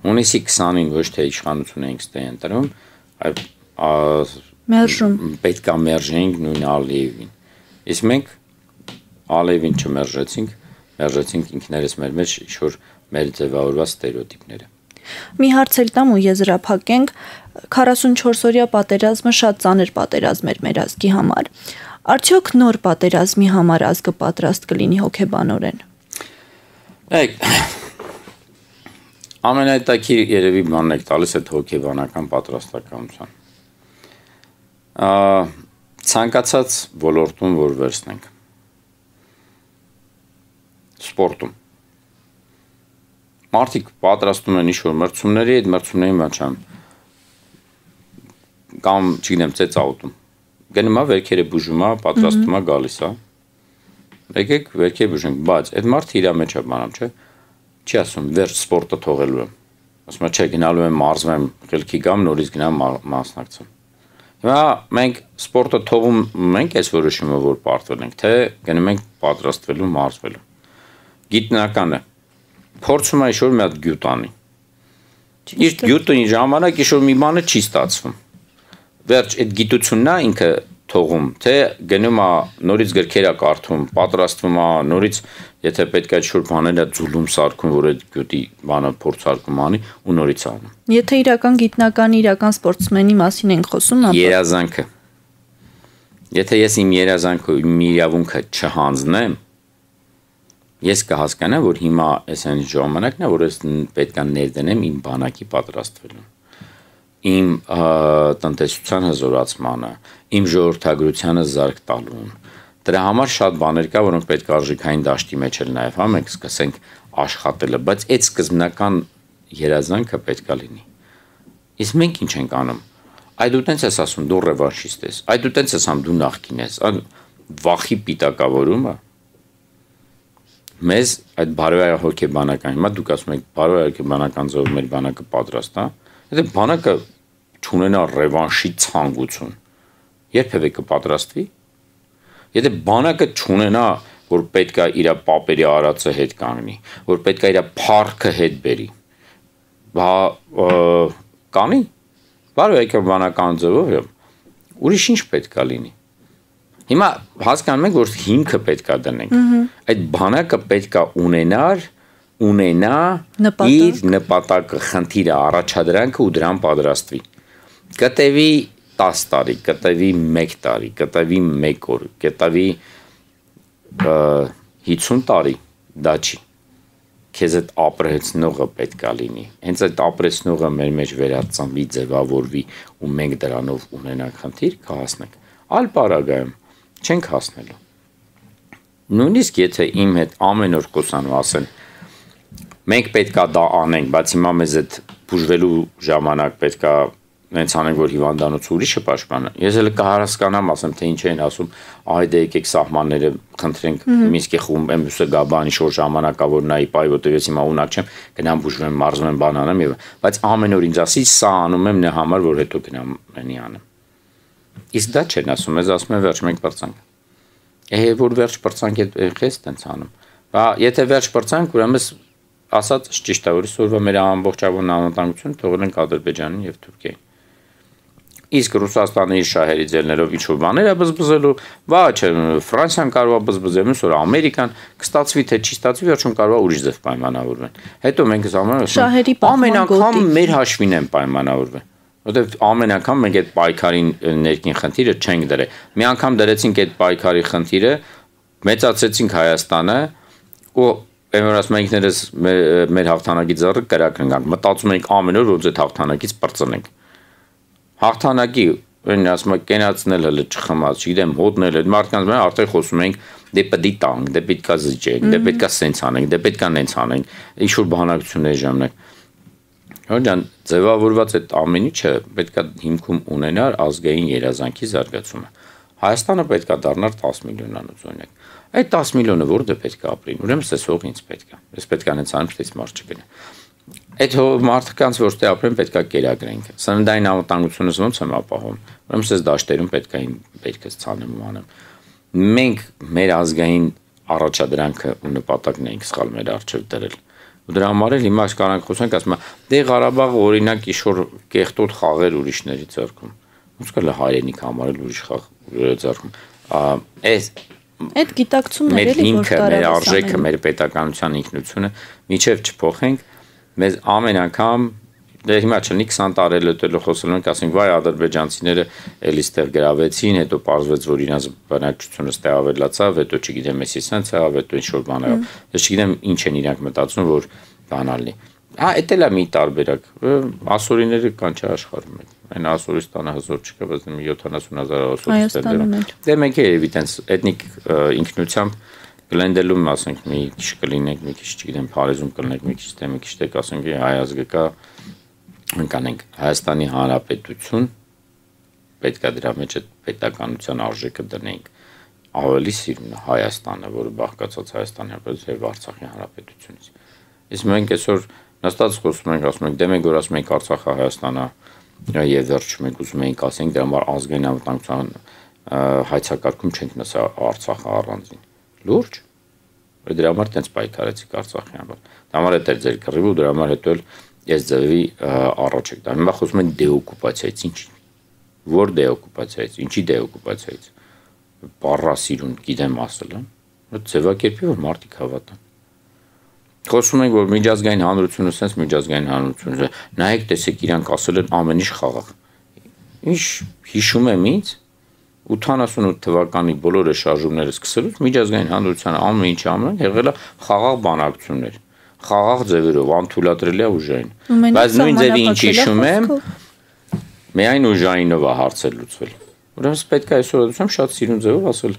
Հունիսի 20-ին ոչ թե իշխանություն էինք ստե ընտրում, այլ մերժում պետք է մերժեինք նույն Ալիևին։ Իսկ մենք Ալիևին չմերժեցինք, մերժեցինք ինքներս մեր մեջ ինչ-որ մեր ձևավորված ստերեոտիպները։ Մի հարց էլ տամ ու եզրափակենք, 44-օրյա պատերազմը շատ ծանր պատերազմ էր մեր ազգի համար։ Արդյոք նոր պատերազմի համար ազգը պատրաստ կլինի հոգեբանորեն։ Ամենայտակի երևի բանն եք տալիս այդ հոգեբանական պատրաստակամության։ Ցանկացած ոլորտում որ վերցնենք։ Սպորտում։ Մարդիկ պատրաստում են ինչ-որ մրցումների, այդ մրցումների մաչան կամ, չգիտեմ, ծեծաուտում։ Գնում է վերքերը բուժում է, պատրաստում է գալիս է։ Եկեք վերքերը բուժենք, բայց այդ մարդը իր մեջ է բանամ, չէ՞։ Չի ասում վերջ սպորտը թողելու եմ։ Ասում է չէ, գնալու եմ մարզվեմ, խելքի գամ, նորից գնամ մասնակցեմ։ Հիմա մենք սպորտը թողում ենք այս որոշումը, որ պարտվել ենք, թե գնում ենք պատրաստվելու, մարզվելու։ Գիտնականը փորձում է ինչ-որ մի հատ գյուտ անի։ Իր գյուտը ժամանակ ինչ-որ մի բանը չի ստացվում։ Վերջ այդ գիտությունն է ինքը թողում, թե գնում է նորից գրքեր է կարդում, պատրաստվում է նորից, եթե պետք է ինչ-որ բաներ է ձուլում սարքում, որ այդ գյուտի բանը փորձարկում անի ու նորից անում։ Եթե իրական գիտնականի, իրական սպորտսմենի մասին ենք խոսում, ապա երազանքը։ Եթե ես իմ երազանքը, իմ իրավունքը չհանձնեմ, ես կհասկանամ, որ հիմա այս այն ժամանակն է, որ ես պետք է ներդնեմ իմ բանակի պատրաստվելուն, իմ տնտեսության հզորացմանը, իմ ժողովրդագրությանը զարկ տալուն։ Դրա համար շատ բաներ կա, որոնք պետք է արժեքային դաշտի մեջ էլ նաև հա մենք սկսենք աշխատելը, բայց այդ սկզբնական երազանքը պետք է լինի։ Իսկ մենք ինչ ենք անում։ Այ դու տենց ես ասում, դու ռևանշիստ ես, այ դու տենց ես ասում, դու նախկին ես, վախի պիտակավորումը մեզ այդ բարոյա հոգեբանական, հիմա դուք ասում եք բարոյա հոգեբանական ձևով մեր բանակը պատրաստ է, եթե բանակը չունենա ռևանշի ցանկություն, երբևէ կպատրաստվի։ Եթե բանակը չունենա, որ պետք է իր պապերի արածը հետ կանգնի, որ պետք է իր փառքը հետ բերի, կանի, բարոյա հոգեբանական ձևով, ուրիշ ինչ պետք է լինի։ Հիմա հասկանում ենք, որ հիմքը պետք է դնենք։ Այդ բանակը պետք է ունենա իր նպատակը, խնդիրը, առաջադրանքը ու դրան պատրաստվի։ Կտևի 10 տարի, կտևի 1 տարի, կտևի 1 օր, կտևի 50 տարի, դա չի։ Քեզ այդ ապրեցնողը պետք է լինի։ Հենց այդ ապրեցնողը մեր մեջ վերածնվի, ձևավորվի ու մենք դրանով ունենանք խնդիր, կհասնենք։ Այլ պարագայում չենք հասնելու։ Նույնիսկ եթե իմ հետ ամեն օր խոսանու ասեն, մենք պետք է դա անենք, բայց հիմա մեզ այդ բուժվելու ժամանակ պետք է նենց անենք, որ հիվանդանոցը ուրիշը պաշտպանը։ Ես էլ կհասկանամ, ասեմ, թե ինչ են ասում, այդե եկեք սահմանները խնդրենք Մինսկի խումբ, մյուսը գա բան ինչ-որ ժամանակա, որ նայի պայ, որտեղ ես հիմա ունակ չեմ, գնամ բուժվեմ, մարզվեմ, բան անեմ եւ բայց ամեն օր ինձ ասի, սա անում եմ նրա համար, որ հետո գնամ մենի անեմ։ Իսկ դա չեն ասում, ես ասում եմ վերջ մենք պրծանք։ Որ վերջ պրծանք էս տենց անում։ Բա եթե վերջ պրծանք, ուրեմն ասած ճիշտ է, որ այսօրվա մեր ամբողջավոն անվտանգությունը թողել ենք Ադրբեջանին եւ Թուրքիային։ Իսկ Ռուսաստանը իր շահերի ձեռներով ինչ-որ բաներ է բզբզելու, ոչ Ֆրանսիան կարող է բզբզել, մյուս օրը Ամերիկան, կստացվի թե չի ստացվի, վերջում կարող է ուրիշ ձև պայմանավորվեն։ Հետո մենք ամեն անգամ մեր հաշվին են պայմանավորվել։ Որտեւ ամեն անգամ մենք այդ պայքարին ներքին խնդիրը չենք դրել։ Մի անգամ դրեցինք այդ պայքարի խնդիրը, մեծացրեցինք Հայաստանը ու որ ասում ենք ինքներս մեր հաղթանակի ձեռը կրակնենք, մտածում ենք ամեն օր որ այդ հաղթանակից պրծնենք։ Հաղթանակի ասում եք կենացնել հələ չխմած, չգիտեմ, հոտնել, այդ մարդկանց մեն արդեն խոսում ենք դե պետք է տանք, դե պետք է զիջենք, դե պետք է սենց անենք, դե պետք է նենց անենք, ինչ որ բանակցությունների ժամանակ։ Հորջան, ձևավորված այդ ամեն ինչը պետք է հիմքում ունենար ազգային երազանքի զարգացումը։ Հայաստանը պետք է դառնար 10 միլիոնանոց օրինակ։ Այդ 10 միլիոնը որտե պետք է ապրին։ Ուրեմն սեսող ինձ պետք է։ Ես պետք է անեցանեմ, թե մարդ չգնա։ Այդ մարդկանց որտե ապրեն պետք է կերակրենք։ Սննդային անվտանգությունս ոնց եմ ապահովում։ Ուրեմն ես դաշտերում պետք է իմ բերքս ցանեմ ու անեմ։ Մենք մեր ազգային առաջադրանքը ու նպատակն ենք սխալ մեր արժև դրել։ Ու դրա համար էլ հիմա կարանք խոսենք, ասում եմ, դե Ղարաբաղը օրինակ իշոր կեղտոտ խաղեր ուրիշների ձեռքում։ Ոնց կա հայրենիք համարել ուրիշ խաղ ձեռքում։ Այդ գիտակցումն էլի որ կարող է մեր արժեքը, մեր պետականության ինքնությունը միջև չփոխենք, մեզ ամեն անգամ դե հիմա չլինի 20 տարի հետո խոսելու ենք, ասենք, վայ ադրբեջանցիները էլի ստեղ գրավեցին, հետո պարզվեց, որ իրենց բնակչությունը ստեղ ավելացավ, հետո չգիտեմ, էսի սենց եղավ, հետո ինչ որ բան եղավ։ Ես չգիտեմ ինչ են իրանք մտածում, որ բանալ լինի։ Էդ էլ է մի տարբերակ։ Ասորիները կան չէ աշխարհում մեկ։ Այն Ասորիստանը հզոր չկա, բայց 70,000 ասորիստներ։ Դե մենք երևի տենց էթնիկ ինքնությամբ գլենդելում, ասենք, մի քիչ կլինենք, մի քիչ չգիտեմ, Փարիզում կլինենք, մի քիչ թե մի քիչ տեք, ասենք, հայ ազգը կա, անկանենք Հայաստանի Հանրապետություն, պետք է դրա մեջ այդ պետականության արժեքը դնենք, ավելի սիրուն Հայաստանը, որը բաղկացած Հայաստանի Հանրապետությունից եւ Արցախի Հանրապետությունից։ Իսկ մենք այսօր նստած խոսում ենք, ասում ենք, դե մենք որ ասում ենք Արցախը Հայաստանը եւ վերջում ենք ուզում ենք ասենք դրա համար ազգային անվտանգության հայցակարգում չենք նսա Արցախը առանձին։ Լուրջ։ Դրա համար տենց պայքարեցիք Արցախի համար։ Դա համար է ձեր կռիվը ու դրա համար հետո ես ձևի առաջ եք դա։ Հիմա խոսում են դեօկուպացիայից, ինչ։ Որ դեօկուպացիայից, ինչի դեօկուպացիայից։ Պարասիրուն գիտեմ ասել, այդ ձևակերպի որ մարդիկ հավատան։ Խոսում ենք որ միջազգային հանրությունը, sense միջազգային հանրությունը, նայեք տեսեք իրանք ասել են ամեն ինչ խաղաղ։ Ինչ հիշում եմ ինձ 88 թվականի բոլոր շարժումները սկսելուց միջազգային հանրության ամեն ինչ անում եղել է խաղաղ բանակցություններ, խաղաղ ձևերով, անթույլատրելի ուժային։ Բայց նույն ձևի ինչ հիշում եմ, միայն ուժայինով է հարցեր լուծվել։ Ուրեմն պետք է այսօր դասում շատ սիրուն ձևով ասել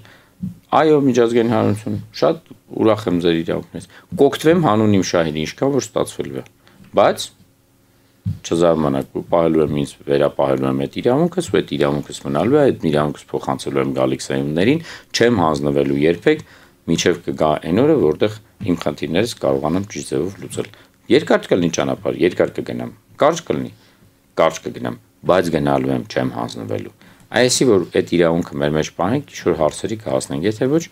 այո միջազգային հանրություն, շատ ուրախ եմ ձեր իրավունքներից։ Կօգտվեմ հանուն իմ շահերի, ինչքան որ ստացվել է։ Բայց չզարմանաք, պահելու եմ ինձ վերապահելու եմ այդ իրավունքս, ու այդ իրավունքս մնալու է, այդ իրավունքս փոխանցելու եմ գալիք սերունդներին, չեմ հանձնվելու երբեք, մինչև կգա այն օրը, որտեղ իմ խնդիրներս կարողանամ ճիշտ ձևով լուծել։ Երկար կլինի ճանապարհ, երկար կգնամ, կարճ կլինի, կարճ կգնամ, բայց գնալու եմ, չեմ հանձնվելու։ Այսի որ այդ իրավունքը մեր մեջ պահենք, ինչ-որ հարցերի կհասնենք, եթե ոչ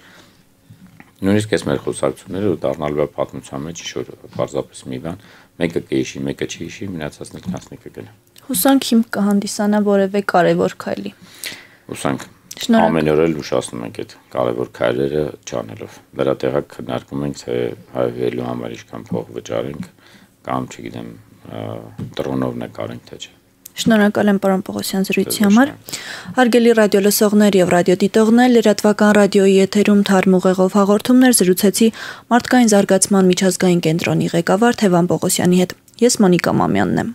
նույնիսկ այս մեր խոսակցությունները դառնալու է պատմության մեջ ինչ-որ պարզապես մի բան, մեկը կհիշի, մեկը չհիշի, մնացածն էլ քնասնի կգնա։ Հուսանք հիմք կհանդիսանա որևէ կարևոր քայլի։ Հուսանք։ Ամեն օր էլ ուշացնում ենք այդ կարևոր քայլերը չանելով։ Դրա տեղակ քննարկում ենք, թե հայվելու համար ինչքան փող վճարենք կամ չգիտեմ, դրոնով նկարենք թե չէ։ Շնորհակալ եմ պարոն Պողոսյան զրույցի համար։ Հարգելի ռադիո լսողներ եւ ռադիոդիտողներ, լրատվական ռադիոյի եթերում թարմ ուղեղով հաղորդումներ զրուցեցի մարդկային զարգացման միջազգային կենտրոնի ղեկավար Թևան Պողոսյանի հետ։ Ես Մոնիկա Մամյանն եմ։